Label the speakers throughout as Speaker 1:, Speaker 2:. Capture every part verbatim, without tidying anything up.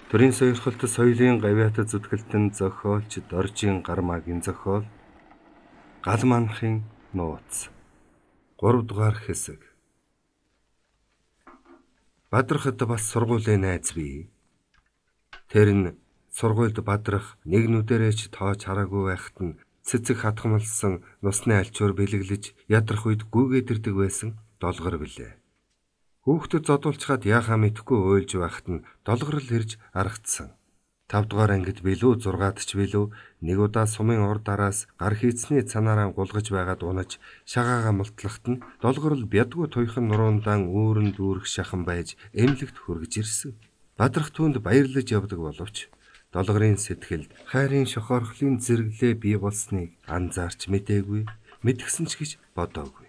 Speaker 1: Төрийн сойрхолт соёлын гавьяатад зүтгэлтэн зохиолч Доржийн Гармаагийн зохиол Гал манахын нууц гурав дугаар хэсэг. Бадрахад бас сургуулийн найз бий. Тэр нь сургуульд бадрах нэг нүдэрээ ч тоож хараагүй байхад нь цэцэг хатгамлсан нусны альчуур бэлэглэж ядрах үед гүйгээд ирдэг байсан долгор билээ. Хүүхдэд зодуулчгаад яахаа мэдэхгүй уйлж байхад нь долгорл ирж аргацсан. Тав дугаар ангид билүү зургаад ч билүү нэг удаа сумын урд араас гар хийцний цанаараа гулгаж байгаад унаж шагаага мултлахт нь долгорл бядгүй туйхан нуруундаа үүрэн дүүрэх шахан байж эмнэлэгт хүргэж ирсэн. Бадрах түүнд баярлаж явдаг боловч долгорын сэтгэлд хайрын шохорхлын зэрэглээ бий болсныг анзаарч мэдээгүй, мэдгсэн ч гэж бодоогүй.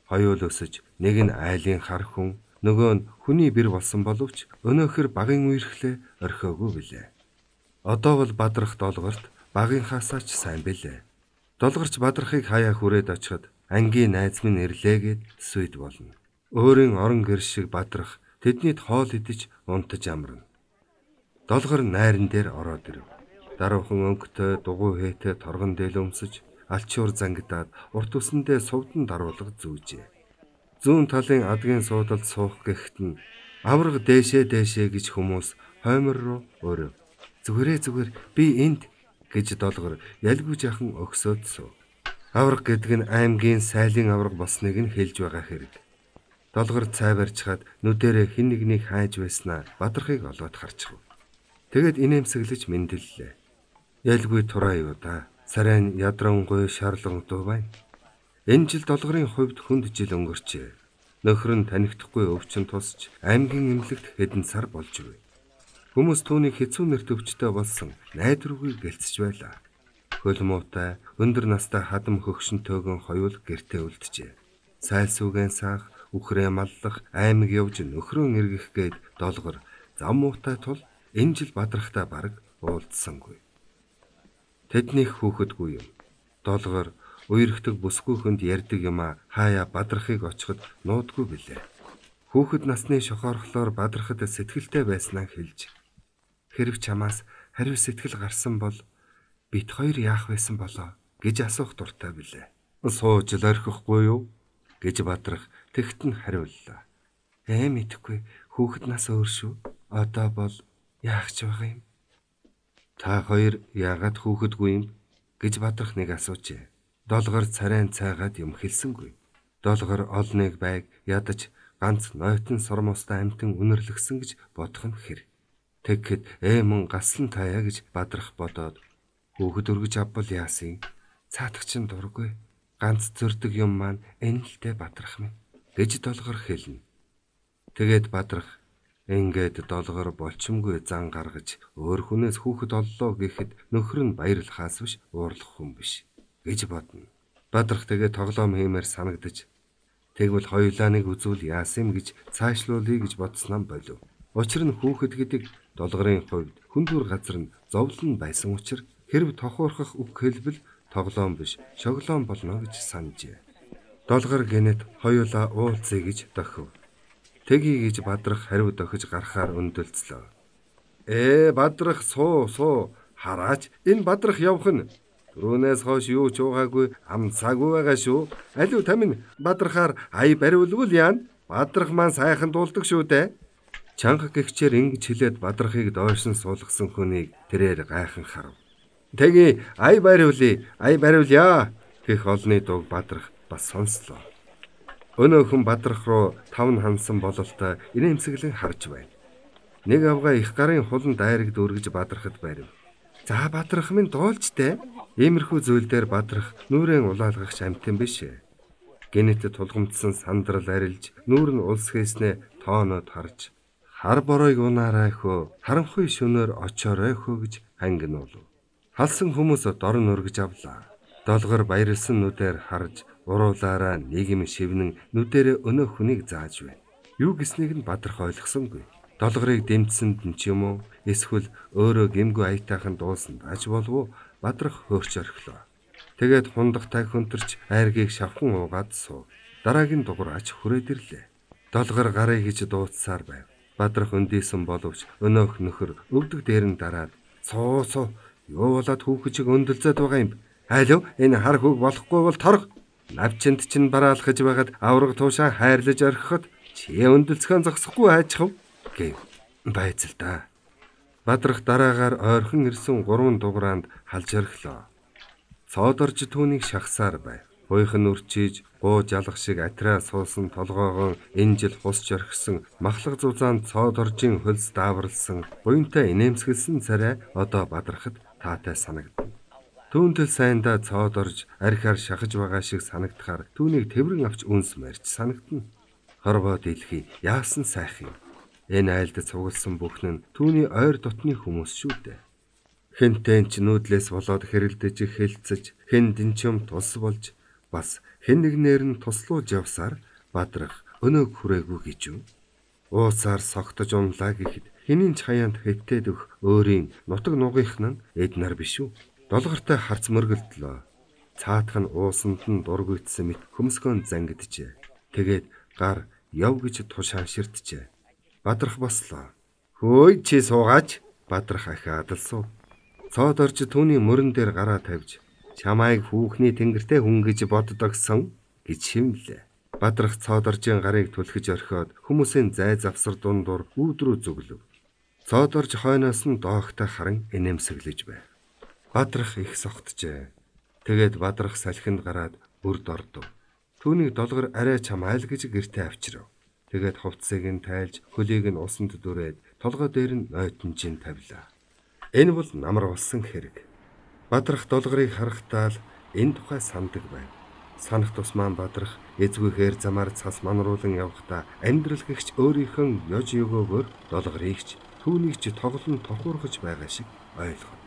Speaker 1: Хоёул өсөж нэг нь айлын хар хүн, нөгөө нь хүний бэр болсон боловч өнөөхөр багын үерхлээ орхиогүй билээ. Одоо бол бадрах долгорт багынхаасаа ч сайн билээ. Долгорч бадрахыг хаяа хүрээд очиход ангийн найз минь ирлээгээд сүйд болно. Өөрийн орон гэр шиг бадрах тэднийд хоол идэж унтаж амарна. Долгор найран дээр ороод ирэв. Даруухан өнгөтэй дугуй хээтэй торгон дээл өмсөж алчуур зангидаад урт үсэндээ сувдан даруулга зүүжээ. Зүүн талын адгийн суудалд суух гэхэд нь авраг дээшээ дээшээ гэж хүмүүс хоймор руу өрөв. Зүгээрээ зүгээр би энд гэж долгор ялгүй жахан өгсөөд суув. Авраг гэдэг нь аймгийн сайлын авраг болсныг нь хэлж байгаа хэрэг. Долгор цайварчхаад нүдэрээ хин нэгнийг хайж байснаа бадрахыг олоод харчихв. Тэгэд инээмсэглэж мэндэллээ. Ялгүй тураа юу да. Сарайн ядрангуй шарлан дуу байна. Энэ жил долгорын хувьд хүнд жил өнгөрчээ. Нөхөр нь танигдахгүй өвчин тусч аймгийн эмнэлэгт хэдэн сар болж ив. Хүмүүс түүнийг хэцүү нэр төвчтэй болсон найдваргүй гэлцэж байлаа. Хөл муутай, өндөр настай хадам хөгшөнтэйгэн хоёул гэртээ үлджээ. Сайлсүүгэн саах, үхрээ маллах, аймаг явж нөхрөө эргэх гээд долгор зам муутай тул энэ жил бадрахтай бараг уулзсангүй. Тэднийх хүүхэдгүй юм. Долгор үерхдэг бүсгүйхэнд ярьдаг юма хаяа бадрахыг очиход нуудгүй билээ. Хүүхэд насны шохоорхлоор бадрахад сэтгэлтэй байснаа хэлж хэрв чамаас хариу сэтгэл гарсан бол бит хоёр яах байсан болоо гэж асуух дуртай билээ. Сууж л орхихгүй юу гэж бадрах тэгт нь хариуллаа. Ээ мэдэхгүй хүүхэд нас өөр шүү. Одоо бол яах ч байгаа юм. Та хоёр яагаад хүүхэдгүй юм гэж бадрах нэг асуужээ. Долгор царайн цайгаад юм хэлсэнгүй. Долгор олныг байг ядаж ганц нойтон сормостой амтан үнэрлэгсэн гэж бодох нь хэр. Тэгэхэд ээмэн гаслан таяа гэж бадрах бодоод хүүхэд өргөж авбал яасын цаатагчин дургүй. Ганц зөрдөг юм маань энэлтэй бадрах минь гэж долгор хэлнэ. Тэгээд бадрах ингээд долгор болчмгүй зан гаргаж өөр хүнээс хүүхэд оллоо гэхэд нөхөр нь баярлахаас биш уурлах хүн биш гэж бодно. Бадрах тэгээд тоглоом хиймээр санагдаж тэгвэл хоёулаа нэг үзүүл яасан гэж цаашлуулъя гэж бодсноо болов. Учир нь хүүхэд гэдэг долгорын хувьд хүндүр газар нь зовлон байсан учраас хэрв тохуурхах үг хэлбэл тоглоом биш шоглоом болно гэж санджээ. Долгор гэнэт хоёулаа уулзъя гэж дохив. Тэгийг гэж бадрах хариу дохиж гарахаар өндөлцлөө. Ээ бадрах суу суу хараач энэ бадрах явах нь түрүүнээс хойш юу ч уугаагүй амсаагүй байгаа шүү. Алив тамин бадрахаар ай бариулвал яана. Бадрах маань сайхан дуулдаг шүү дээ. Чанга гихчээр ингэж хэлээд бадрахыг доош нь суулгасан хүнийг тэрээр гайхан харав. Тэги ай бариулъя, ай бариулъя гэх олны дууг бадрах бас сонслоо. Өнөөхөн бадрах руу тавн хансан бололтой инээмсэглэн харж байна. Нэг авгаа их гарын хулан дайраг дүүргэж бадрахад байрав. За бадрах минь дуулж дээ. Иймэрхүү зүйл дээр бадрах нүрэн улаалгагч амтэн биш. Гэнэт тулгамдсан сандрал арилж нүүр нь улс хийснэ тоонод харж хар боройг унаарай хөө харанхуй шөнөөр очоорой хөө гэж хангинуулв. Халсан хүмүүс дорн өргөж авлаа. Долгор баярлсан нүдээр харж уруулаараа нийгэм шивнэн нүдэрээ өнөө хүнийг зааж байна. Юу гэснийг нь бадрах ойлгосонгүй. Долгорыг дэмжсэнд нь ч юм уу эсвэл өөрөө гэмгүй аятайхан дуусан дааж болов бадрах хөөрч орхилоо. Тэгээд хундагтай хөнтөрч айргийг шавхан уугаад суув. Дараагийн дугуйраач хүрээд ирлээ. Долгор гарыг гэж дуудсаар байв. Бадрах өндийсэн боловч өнөөх нөхөр өвдөг дээр нь дараад "Суу суу, юу болоод хүүхэд чиг өндөлзөд байгаа юм? Айлв энэ хар хүүг болохгүй бол торг. Навчинд чинь бараалхаж байгаад авраг туушаа хайрлаж орхиход чи өндөлцгөн зогсохгүй хайчхав" гэв. Байцал да. Бадрах дараагаар ойрхон ирсэн гурван дуграанд халж орхилоо. Цоодорж түүнийг шахсаар байв. Буйхан үрчиж, гуу жалах шиг атраа суусан толгоогоо энэ жил хусч орхисон махлаг зузаанд цоодоржийн хөлс дааварлсан буянтай инээмсэглсэн царай одоо Бадрахад таатай санагдана. Түүнтэл сайндаа цоодорж архиар шахаж байгаа шиг санагдахаар түүнийг тэврэн авч үнс марьж санагдана. Хорвоо дэлхий яасан сайх юм. Энэ айлд цугласан бүхэн нь түүний ойр дотны хүмүүс шүү дээ. Хэнтэн ч нүүдлээс болоод хэрэлдэж хэлцэж, хэн дэнчим тус болж бас хэн нэгнээр нь туслуулж явсаар Бадрах өнөөг хүрээгүй гэж юу? Уусаар согтож унлаа гэхэд хэний ч хаяанд хэтээд өгөх өөрийн нутаг нугийнх нь эднэр биш үү? Долгортой харц мөргөлдлөө. Цаатах нь уусанд нь дургүйдсэн мэт хөмсгөн зангиджээ. Тэгээд гар яв гэж тушаан ширтжээ. Бадрах бослоо. "Хөөе чи суугаач." Бадрах ахиад алсуу. Цоодорж түүний мөрөн дээр гараа тавьж "Чамайг хүүхний тэнгэртэй хүн гэж боддогсон" гэж шивнэлээ. Бадрах цоодоржийн гарыг түлхэж орхиод хүмүүсийн зай завсар дундуур үүдрүү зүглөв. Цоодорж хойноос нь доогтой харан инээмсэглэж байв. Бадрах их согтжээ. Тэгээд Бадрах салхинд гараад бүрд ордов. Түүнийг долгор арай чамайл гэж гэртээ авчирав. Тэгээд хувцсыг нь тайлж, хөлийг нь усанд дүрээд толгой дээр нь нойтонжин тавилаа. Энэ бол намар болсон хэрэг. Бадрах долгорыг харахтаа л энэ тухай сандаг байв. Санах тусмаа Бадрах эзгүйхээр замаар цас манруулан явхдаа амьдрал гэгч өөрийнхөө ёж өгөөгөөр долгорыг ч түүнийг ч тоглон тохуургаж байгаа шиг ойлгов.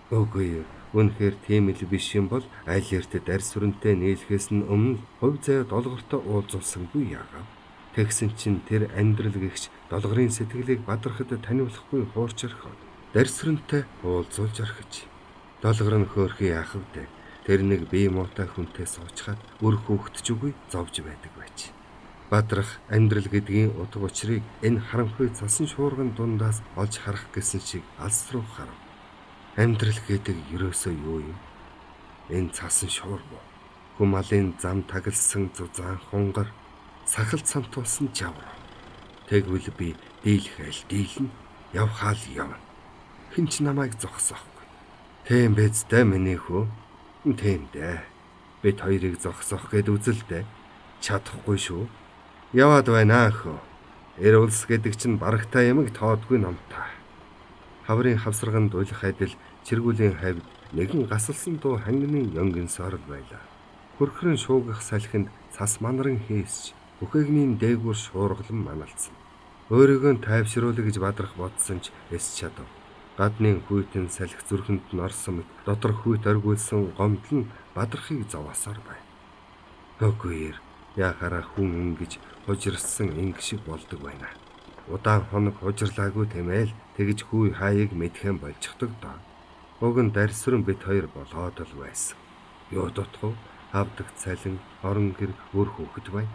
Speaker 1: Үгүй, үнэхээр тийм л биш юм бол аль эрт дарс сүрэнтэй нийлхээс нь өмнө хувь заяа долгортой уулзуулсангүй яагаад? Тэгсэн чинь тэр амьдрал гэгч долгорын сэтгэлийг Бадрахад таниулахгүй хуурч орхиод дарс сүрэнтэй уулзуулж орхиж. Долгор нь хөөрхий яах вэ? Тэр нэг бие муутай хүнтэй суучгаад үр хөөгтж үгүй зовж байдаг байж. Бадрах амьдрал гэдгийн утга учирыг энэ харанхуй цасан шуурган дундаас олж харах гэсэн шиг алс руу харав. Амьдрал гэдэг ерөөсөө юу юм? Энэ цасан шуур бо. Хүм алын зам тагласан зузаан хунгар, сахалт сантуулсан жавар. Тэгвэл би дийлхээл дийлнэ, явхаал явна. Хэн ч намайг зогсоохгүй. Тийм биз дээ миний хүү? Тийм дээ. Бид хоёрыг зогсоох гэд үзэлдэ. Чадахгүй шүү. Яваад байна хөө. Эр улс гэдэг чинь барагтай ямиг тоодгүй номтой. Хаврын хавсарганд уйлах адил чиргүүлийн хавьд нэгэн гасалсан дуу хангины ёнгин сорл байлаа. Хөрхрөн шуугах салхинд цас манаран хийсч бүхээгний дээгүүр шуургалан маналцсан. Өөрийгөө тайвшруулах гэж Бадрах бодсон ч эс чадав. Гадны хүйтэн салхи зүрхэнд нь орсон мэт дотор хүйт оргиулсан гомдол нь Бадрахыг зовоосоор байв. Үгүй яхаараа хүн ингэж хужирсан инг шиг болдог байна. Удаан хоног хужирлаагүй тэмээл тэгж хүй хааяг мэдхэн болчихдог доо. Уг нь дарсрын бит хоёр болоод л байсан. Юу дутх вэ? Авдаг цалин, орон гэр, өр хөөхд бай.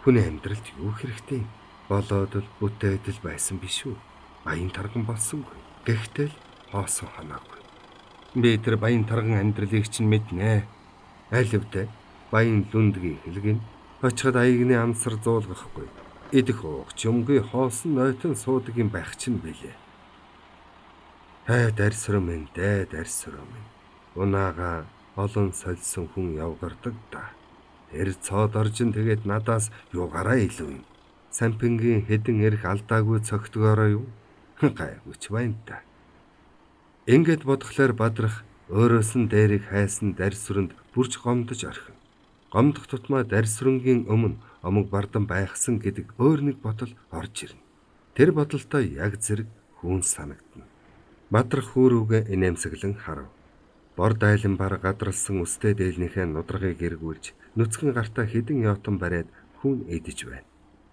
Speaker 1: Хүний амьдралд юу хэрэгтэй? Болоод л бүтээд л байсан биш үү? Баян тарган болсонгүй. Гэхдээ л хоосон ханаагүй. Би тэр баян тарган амьдралыг чинь мэднэ. Айлвдэ баян лүндгийн хэлгэн очиход аягны амсар зуулгахгүй. Идэх уугч юмгүй хоосон нойтон суудаг юм байх чинь билээ. Хай дарсрам минь дэ дарсрам минь. Унаага олон сольсон хүн явгардаг да. Эр цоодоржин тэгээд надаас юугаараа илүү юм. Сампингийн хэдэн эрх алдаагүй цогтгоороо юу? Гайвч байна та. Ингээд бодглохлоор Бадрах өөрөөс нь дээрийг хайсан дарсранд бүрж гомдож орхив. Гомдох тутмаа дарсрынгийн өмнө омог бардан байхсан гэдэг өөр нэг бодол орж ирнэ. Тэр бодолтой яг зэрэг хүн санагдана. Бадрах хүүрүүгээ инээмсэглэн харав. Бор дайлан бар гадралсан өстэй дээлнийхээ нудрагыг эргүүлж нүцгэн гартаа хідэн яотон бариад хүн эдэж байна.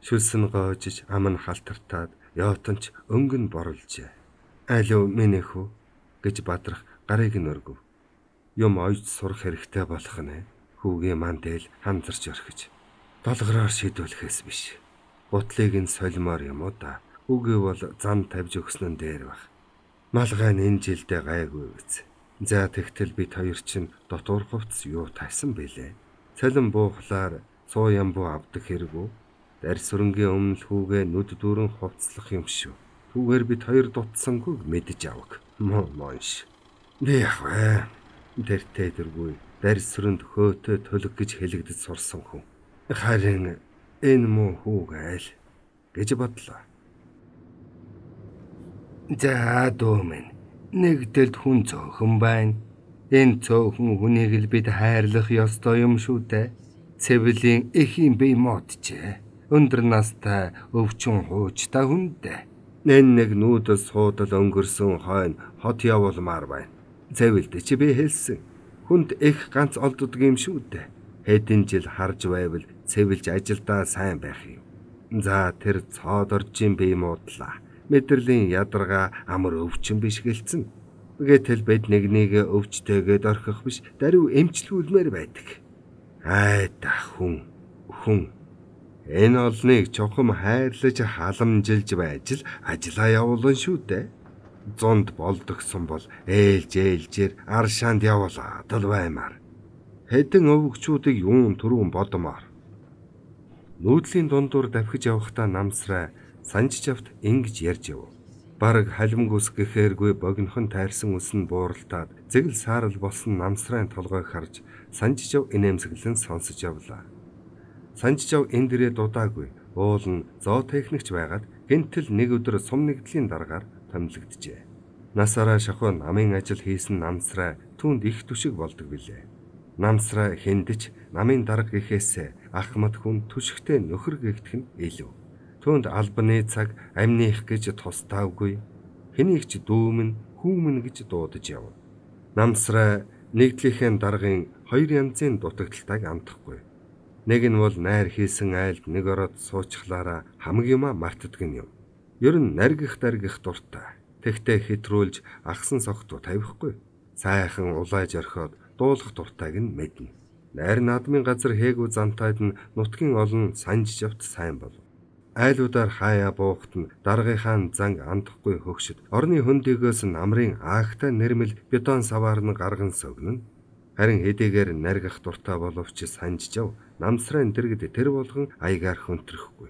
Speaker 1: Шүлсэн гоожиж ам нь халтартаад яотонч өнгөн борлжээ. Алив минь хүү гэж Бадрах гарыг нь өргөв. Юм ойж сурах хэрэгтэй болох нэ. Хүүгийн ман дээл хамзарч орхиж. Долгороор шийдвэрлэхээс биш. Бутлыг нь солимоор юм уу да. Үгүй бол зам тавьж өгсөн нь дээр баг. Малгай нь энэ жилдээ гайгүй биз. За тэгтэл бид хоёр чинь дотор хувцс юу тайсан бэлээ. Цалин буухлаар цуу ямбуу авдаг хэрэггүй. Дарс хөрөнгийн өмнө хүүгээ нүд дүүрэн хувцлах юм шүү. Түүгээр бид хоёр дутсангүй мэдэж авах. Мөн монш. Би яах вэ? Тэртээ дэргүй дарс хөрөнд хөөтөө төлөг гэж хэлэгдэж сурсан хүн. Харин энэ муу хүүгээл гэж бодлоо. За дөөмэн нэгдэлд хүн цөөхөн байна. Энэ цөөхөн хүнийг л бид хайрлах ёстой юм шүү дээ. Цэвэлийн эхийн бие модчээ. Өндөр настай өвчин хуучтай хүн дээ. Нэн нэг нүүдэл суудал өнгөрсөн хойно хот явуулмаар байна. Цэвэлд чи би хэлсэн. Хүнд их ганц олддог юм шүү дээ. Хэдэн жил харж байвал цэвэлж ажилдаа сайн байх юм. За тэр цоод оржийн бие модлаа. Мэдрэлийн ядарга амар өвчин биш гэлцэн. Гэтэл бид нэг нэгэ өвчтэйгээд орхих биш даруй эмчлүүлмээр байдаг. Айда хүн хүн энэ олныг чухам хайрлаж халамжилж байж л ажиллаа явуулна шүү дээ. Зунд болдогсон бол ээлж ээлжээр аршаанд явуулаад л баймаар. Хэдэн өвөгчүүдийг юун түрүүн бодомоор. Нүүдлийн дундуур давхиж явахдаа намсраа санжиж авт ингэж ярьж яв. Бараг халимгүс гэхээргүй богинохон тайрсан үс нь бууралтаад зэгэл саарл болсон намсрын толгойг харж санжижав инээмсэглэн сонсож явлаа. Санжижав энэ дэрээ дудаагүй уул нь зоо техникч байгаад гэнтэл нэг өдөр сум нэгдлийн дараагаар томилогджээ. Насаараа шахуу намын ажил хийсэн намсраа түүнд их түшиг болдог билээ. Намсраа хэндэж намын дарга гэхээсээ ахмад хүн түшигтэй нөхөр гэгдэх нь илүү. Түүнд албаны цаг амных гэж тусдаагүй. Хэнийг ч дүүмэн хүүмэн гэж дуудаж яв. Намсраа нэгдлийнхээ даргын хоёр янзын дутагдaltaаг амтахгүй. Нэг нь бол найр хийсэн айлд нэг ороод суучхлаараа хамаг юма мартдаг юм. Ер нь наргих даргих дуртай. Тэгтээ хэтрүүлж ахсан согтуу тавихгүй. Сайхан улааж орхиод дуулах дуртайг нь мэднэ. Найр наадмын газар хээгүү зантайд нь нутгийн олон санжиж явт сайн болов. Айлуудаар хаяа буухт нь даргийнхаа занг андахгүй хөгшөд орны хөндөгөөс намрын аагтай нэрмэл бетон саваар нь гарган согнно. Харин хэдийгээр наргих дуртай боловч санжижав намсрын дэргэд тэр болгон аягаар хөнтрөхгүй.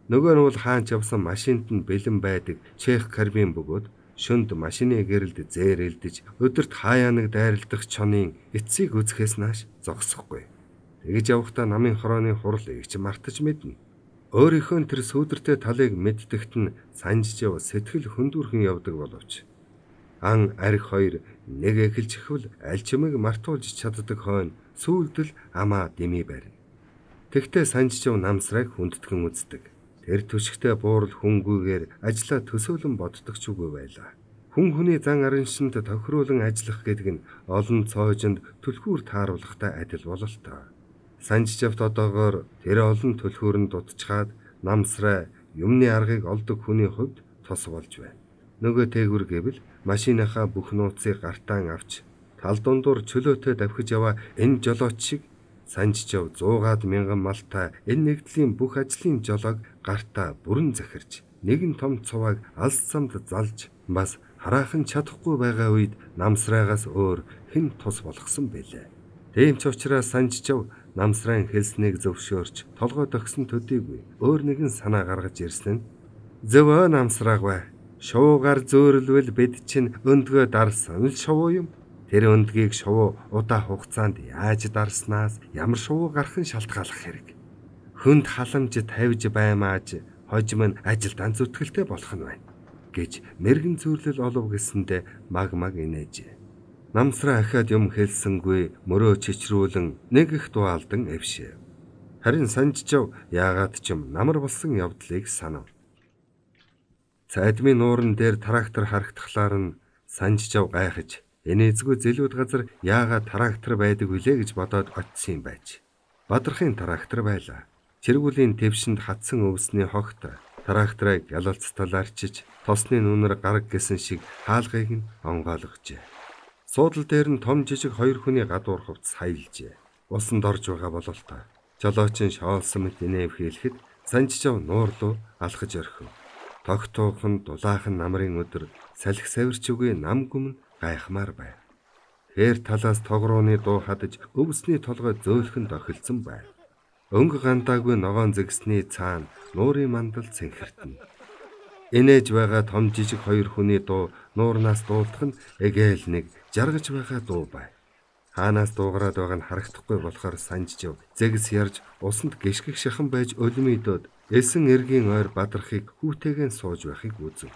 Speaker 1: Нөгөө нь бол хаанч явсан машинд нь бэлэн байдаг чех карбин бөгөөд шөнд машины гэрэлд зээрэлдэж өдөрт хаяа нэг дайралдах чонын эцсийг үзэхээс нааш зогсохгүй. Тэгж явахдаа намын хорооны хурал игч мартаж мэднэ. Өөрийнхөө тэр сүүдэртэй талыг мэддэгт нь санжижав сэтгэл хөндүүрхэн явдаг боловч ан арх хоёр нэг эхэлж ихвэл аль чимэг мартуулж чаддаг хойно сүүлдэл амаа дэмий барина. Тэгтээ санжижав намсрайг хүндэтгэн үздэг. Тэр түшигтэй буурал хүнгүйгээр ажлаа төсөөлөн боддог ч үгүй байлаа. Хүн хүний зан араншинд тохируулан ажиллах гэдэг нь олон цоожинд түлхүүр тааруулахтай адил бололтой. Санжижавт одоогоор тэр олон түлхүүрэнд дутчихад намсраа юмны аргыг олдог хүний хувьд тос болж байна. Нөгөө тээгүр гэвэл машиныхаа бүх нууцыг гартаан авч тал дундуур чөлөөтэй давхиж яваа энэ жолооч шиг санжижав зуугаад мянган малтай энэ нэгдлийн бүх ажлын жолоог гартаа бүрэн захирч нэгэн том цуваг алс замд залж бас хараахан чадахгүй байгаа үед намсраагаас өөр хэн тус болгосон бэлээ. Тийм ч учраас санжижав намсрын хэлснийг зөвшөөрч толгой төгсөн төдийгүй өөр нэгэн санаа гаргаж ирсэн нь зөвөө намсрааг бай. Шуугаар зөөрөлвөл бид чинь өндгөө дарсан л шувуу юм. Тэр өндгийг шувуу удаа хугацаанд яаж дарснаас ямар шувуу гарах нь шалтгааллах хэрэг. Хүнд халамж тавьж баймааж хожим нь ажилдаа зүтгэлтэй болох нь байна гэж мэрэгэн зүрлэл олов гэсэндэ маг маг инээж. Намсраа ахаад юм хэлсэнгүй мөрөө чичрүүлэн нэг их дуалдан эвшээ. Харин санжижав яагаад ч юм намар болсон явдлыг санав. Цайдмын нууран дээр трактор харагдахлаар нь санжижав гайхаж энэ эзгүй зэлүүд газар яагаад трактор байдаг вүлээ гэж бодоод очсон юм байж. Бадрахын трактор байлаа. Чиргүүлийн твшинд хатсан өвсний хогт тракторыг ялалцтал арчиж тосны нүнэр гараг гэсэн шиг хаалгыг нь онгойлгожээ. Суудал дээр нь том жижиг хоёр хүний гадуур хувцас хаялжээ. Усанд орж байгаа бололтой. Жолоочин шоолсон мэт инэв хийлэхэд Санжижав нуур руу алхаж орхив. Тогтуухан дулаахан намрын өдөр салхи савирч үгүй нам гүмн гайхмаар байв. Хээр талаас тогрооны дуу хадаж өвсний толгой зөөлхөн дохилсон байв. Өнгө гандаагүй ногоон зэгсний цаана нуурын мандал цэнхэртэн. Энээж байгаа том жижиг хоёр хүний дуу нуурнаас дуулдах нь эгээл нэг жаргаж байгаа дуу байв. Хаанаас дуугараад байгааг нь харагдахгүй болохоор Санжижав зэгс ярж усанд гიშгэх шахан байж өлмөйдөөд эсэн эргийн ойр бадрахыг хүүтэйгэн сууж байхыг үзв.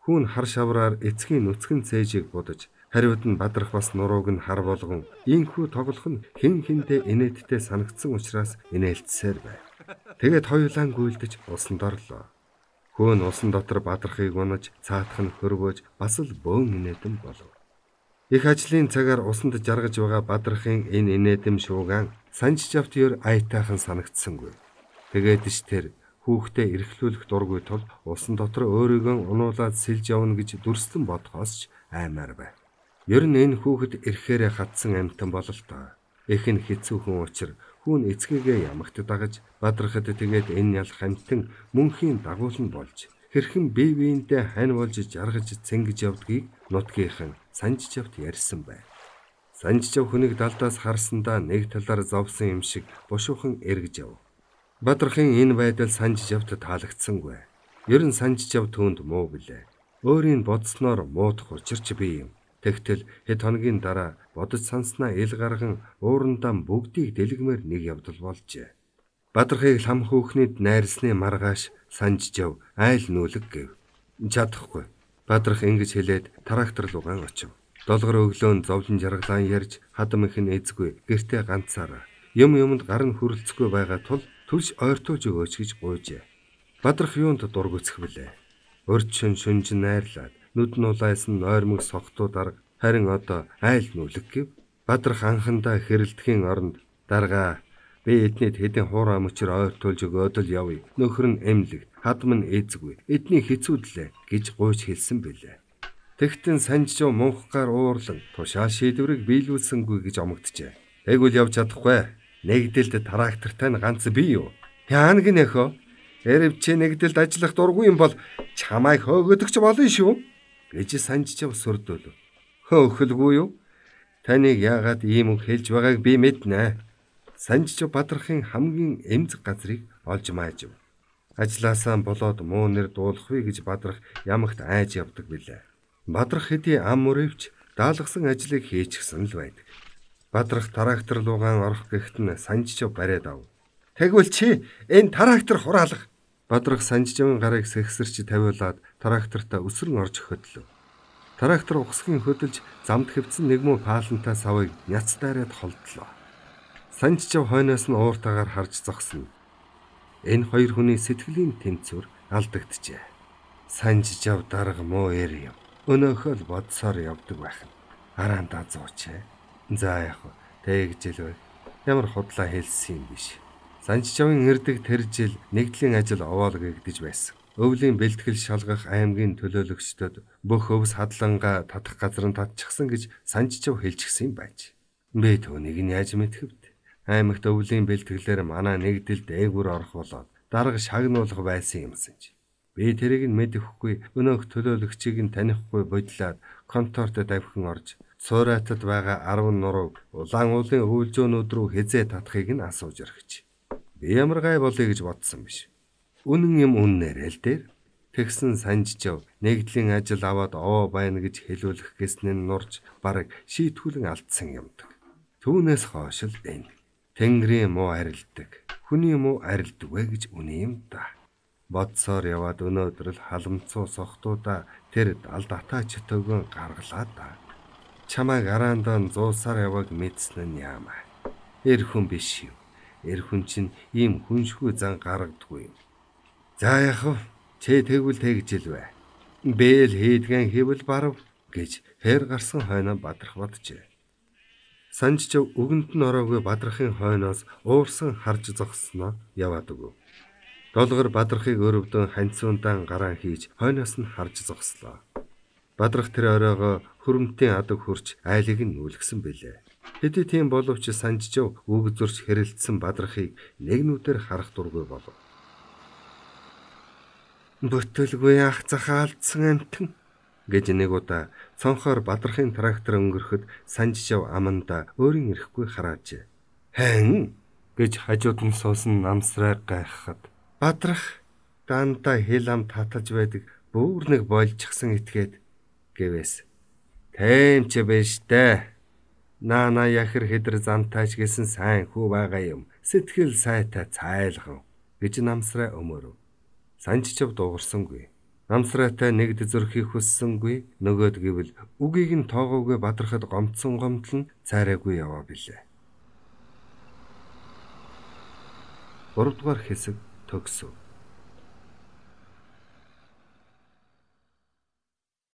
Speaker 1: Хүүн хар шавраар эцгийн нүцгэн цээжийг будаж хариуд нь бадрах бас нурууг нь хар болгон ийхүү тоглох нь хэн хэндээ инээдтэй санагдсан учраас инээлтсээр байв. Тэгээд хоёулаа гүйлдэж усанд орлоо. Хүүн усан дотор бадрахыг унаж цаатах нь хөрвөөж бас л бөөн инээдэн болов. Их ажлын цагаар усанд жаргаж байгаа бадрахын энэ инээдэм шуугаан Санжижавт ер аятайхан санагдсангүй. Тэгээд ч тэр хүүхдээ эрхлүүлэх дургүй тул усан дотор өөрийгөө унуулаад сэлж явна гэж дүрслэн бодхоос ч аймаар байв. Ер нь энэ хүүхэд эрхээрээ хатсан амьтан бололтой. Их нь хэцүүхэн учир хүүн эцгээгээ ямагт дагаж бадрахад тэгээд энэ ял хамтан мөнхийн дагуулн болж хэрхэн бие биендээ хань болж жаргаж цэнгэж явдгийг нутгийнхан Санжижавт ярьсан байв. Санжижав хүнийг далдаас харсандаа нэг талаар зовсон юм шиг бушуухан эргэж яв. Бадрахын энэ байдал Санжижавт таалагдсангүй. Ер нь Санжижав түүнд муу билээ. Өөрийн бодсноор муудах учирч би юм. Тэгтэл хэд хоногийн дараа бодож санснаа ил гарган уурандаа бүгдийг дэлгмээр нэг явдал болжээ. Бадрахыг лам хөөхнийд найрсны маргааш Санжижав айл нүүлэг гэв. Чадахгүй. Бадрах ингэж хэлээд трактор руугаан очив. Долгор өглөөнд зовлон жаргалаан ярьж хадам их нь эзгүй гэртээ ганцаараа юм юмд гар нь хүрэлцэхгүй байгаа тул түлш ойртуулж өгөөч гэж гуйжээ. Бадрах юунд дургуцэх билээ. Өрчин шүнжин найрлаад нүд нь улайсан нойрмог согтуу дарга харин одоо айл нүлэг гэв. Бадрах анхандаа хэрэлдэхийн оронд даргаа би эднийд хэдэн хуурай мөчөр ойртуулж өгөөд л явъя. Нөхөр нь эмлэг, хадам нь эзгүй, эдний хэцүүдлээ гэж гуйж хэлсэн билээ. Тэгтэн Санжижав мунхгаар уурлан тушаал шийдвэрийг биелүүлсэнгүй гэж омогджээ. Тэгвэл явж чадахгүй. Нэгдэлд трактортай нь ганц би юу? Яан гинэхөө? Эрэв чи нэгдэлд ажиллах дургүй юм бол чамайг хөөгдөгч болно шүү гэж Санжижав сүрдүүлв. Хөөхөлгүй юу? Таныг яагаад ийм үг хэлж байгааг би мэднэ. Санжижав Бадрахын хамгийн эмзэг газрыг олж маажив. Ажлаасаа болоод муу нэр дуулахгүй гэж Бадрах ямагт айж явдаг билээ. Бадрах хэдий ам мөрөвч даалгасан ажлыг хийчихсэн л байдаг. Бадрах трактор руугаан орох гэхэд нь Санжижав бариад ав. Тэгвэл чи энэ трактор хураалга. Бадрах Санжижавын гарыг сэгсэрч тавиулаад тракторта өсрөн орж хөдлөв. Трактор ухсгийн хөдөлж замд хэвцэн нэгмүү паалантай савыг няцдаараад холдлоо. Санжижав хойноос нь ууртаагаар харж зогсно. Энэ хоёр хүний сэтгэлийн тэнцвэр алдагджээ. Санжижав дарга муу эр юм. Өнөөхөө л бодсоор явдаг байх нь. Араандаа зуучээ. За яах вэ? Тэгж л бай. Ямар худлаа хэлсэн юм биш. Санжижавын эрдэг тэр жил нэгдлийн ажил овоол гэгдэж байсан. Өвлийн бэлтгэл шалгах аймгийн төлөөлөгчдөд бүх өвс хадлангаа татах газар нь татчихсан гэж Санжижав хэлчихсэн юм байж. Би түүнийг нь яаж мэдэх вэ? Аймагт өвлийн бэлтгэлээр манай нэгдэлд дээгүр орох болоод дарга шагнуулах байсан юмсан чи. Би тэрийг нь мэдэхгүй өнөөх төлөөлөгчийг нь танихгүй бодлоод конторт давхин орж цуурайтад байгаа арван нуруу улаан уулын өвөлжөөнүүд рүү хизээ татахыг нь асууж орхиж. Би ямар гай болъё гэж бодсон биш. Үнэн юм үннээр л дээр. Тэгсэн Санжижав нэгдлийн ажил аваад овоо байна гэж хэлүүлэх гэснээ нурж бараг шийтгүүлэн алдсан юмдаг. Түүнээс хойш л энэ Тэнгэрийн муу арилдаг, хүний муу арилдаг вэ гэж үнэ юм да. Бодсоор яваад өнөөдөр л халамцуу сохтуудаа тэр далд атаа чөтөөгөө гаргалаа да. Чамайг араандаа зуусаар яваг мэдсэн нь яамаа. Эр хүн биш юу? Эр хүн чинь ийм хүншгүй зан гаргадгүй юм. За яах вэ? Чи тэгвэл тэгж л бай. Бэл хийдгэн хэвэл барав гэж хэр гарсан хойноо Бадрах боджээ. Санжижав өгөнд нь ороогүй Бадрахын хойноос уурсан харж зогссноо яваад өгөв. Долгор Бадрахыг өрөвдөн ханцуундаан гараан хийж хойноос нь харж зогслоо. Бадрах тэр оройгоо хөрөмтийн адаг хурч айлыг нь нүүлгсэн билээ. Хэдий тийм боловч Санжижав үг зурч хэрэлдсэн Бадрахыг нэг нүдээр харах дургүй болов. Бүтэлгүй ах захаалдсан амтэн гэж нэг удаа цонхоор Бадрахын трактор өнгөрөхөд Санжижав аманда өөрийн ирэхгүй хараажээ. Хэн гэж хажууд нь суусан намсраа гайхахад Бадрах дандаа хил ам татаж байдаг бүр нэг болчихсон итгээд гэвээс. Тэмч биш дээ. Наана яхэр хэдэр замтаач гэсэн сайн хүү байгаа юм. Сэтгэл сайтай цайлгав гэж намсраа өмөрөв. Санжичав дуугарсангүй. Намсраатай нэгд зөрхийг хүссэнгүй. Нөгөөд гэвэл үгийг нь тоогоогүй Бадрахад гомдсон гомдол нь цайраагүй яваа билээ. гурав дугаар хэсэг төгсөв.